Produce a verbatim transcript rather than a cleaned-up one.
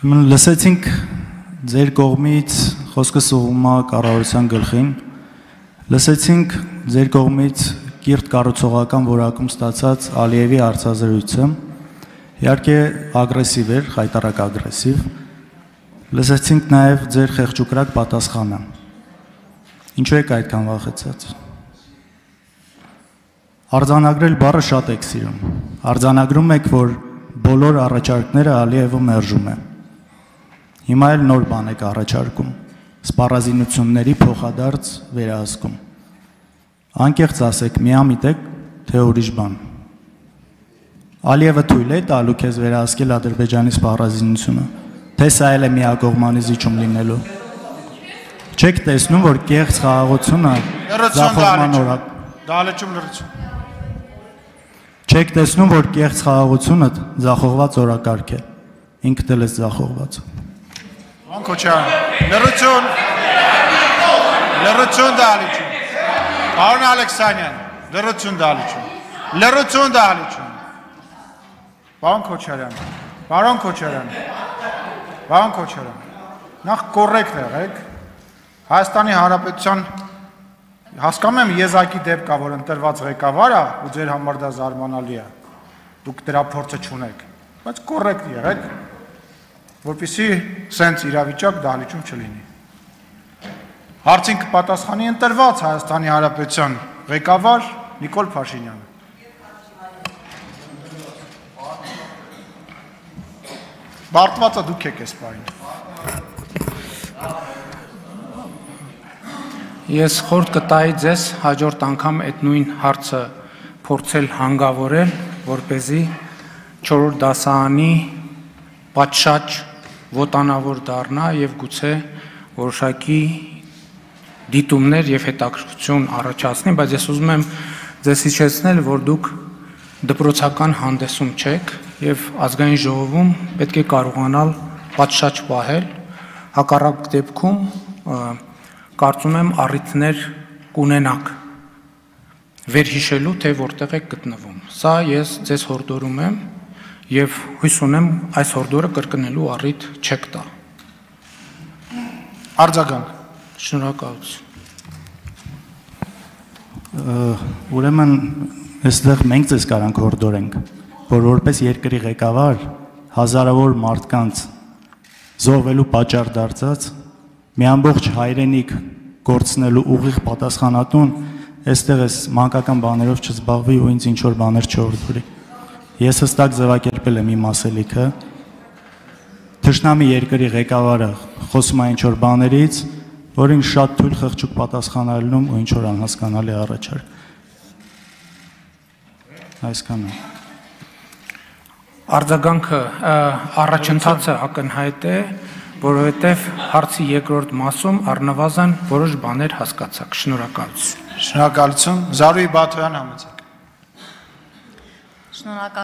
Լսեցինք ձեր կողմից խոսքը սուղում է կառավարության գլխին, լսեցինք ձեր կողմից կիրթ կառուցողական որակում ստացած Ալիևի հարցազրույցը, իհարկե ագրեսիվ էր, խայտառակ ագրեսիվ, լսեցինք նաև ձեր խեղճուկրակ պատասխանը, ինչու եք այդքան վախեցած։ Արձանագրել բառը շատ եք սիրում, արձանագրում եք, որ բոլոր առաջարկները Ալիևը մերժում է։ Հիմա էլ նոր բան եք առաջարկում, սպառազինությունների փոխադարձ վերահսկում։ Անկեղծ ասեք, միամիտ եք, թե ուրիշ բան։ Ալիևը թույլ է տալու քեզ վերահսկել Ադրբեջանի սպառազինությունը, թե սա էլ է միակողմանի զիջում լինելու։ Չեք տեսնում, որ կեղծ խաղաղությունը ձախողման օրակ։ Դալեչում լրացում։ Չեք տեսնում, որ կեղծ խաղաղությունը ձախողված օրակարգ է։ Ինքդ էլ ես ձախողված։ Քոչարյան, լրություն, լրություն դալիչում, պարոն Ալեքսանյան, լրություն դալիչում, լրություն դալիչում, պարոն Քոչարյան, պարոն Քոչարյան, պարոն Քոչարյան, նախ կորեկտ եղեք, Հայաստանի Հանրապետության, հասկանում եմ եզակի դեպք կա, որ ընտրված ղեկավար է, ու ձեր համար դա զարմանալի է, դուք դրա փորձը չունեք, բայց կորեկտ եղեք, որպեսզի սենց իրավիճակ դահլիճում չլինի։ Հարցին կպատասխանի ընտրված Հայաստանի Հանրապետության ղեկավար Նիկոլ Փաշինյանը։ Բարդվածը դուք եք այս պահին։ Ես խորհուրդ կտայի ձեզ հաջորդ անգամ այդ նույն հարցը փորձել հանգավորել, որպեսզի չորրորդ դասարանի պատշաճ ոտանավոր դառնա եւ գուցե որոշակի դիտումներ եւ հետաքրքրություն առաջացնի, բայց ես ուզում եմ ձեզ հիշեցնել, որ դուք դպրոցական հանդեսում չեք եւ ազգային ժողովում պետք է կարողանալ պատշաճ պահել, հակառակ դեպքում կարծում եմ առիթներ կունենաք վերհիշելու, թե որտեղ եք գտնվում։ Սա ես ձեզ հորդորում եմ եւ հույս ունեմ այս հորդորը կրկնելու առիթ չեք տա։ Արձագանք։ Շնորհակալություն։ Ուրեմն այստեղ մենք ձեզ կարանք հորդորենք, որ որպես երկրի ղեկավար հազարավոր մարդկանց զոհվելու պատճառ դարձած մի ամբողջ հայրենիք գործնելու ուղիղ պատասխանատուն այստեղ էս մանկական բաներով չզբաղվի ու ինձ ինչ-որ բաներ չհորդորի։ Ես հստակ ձևակերպել եմ իմ ասելիքը, թշնամի երկրի ղեկավարը խոսում է ինչ-որ բաներից, որին շատ թույլ խղճուկ պատասխանալնում ու ինչ-որ անհասկանալի առաջարկ։ Այսքանը։ Արձագանքը առաջընթացը ակնհայտ է, որովհետև հարցի երկրորդ մասում առնվազն որոշ բաներ հասկացաք։ Շնորհակալություն։ Շնորհակալություն, Զարուհի Բաթոյան համեցեք։ Շնորհակալ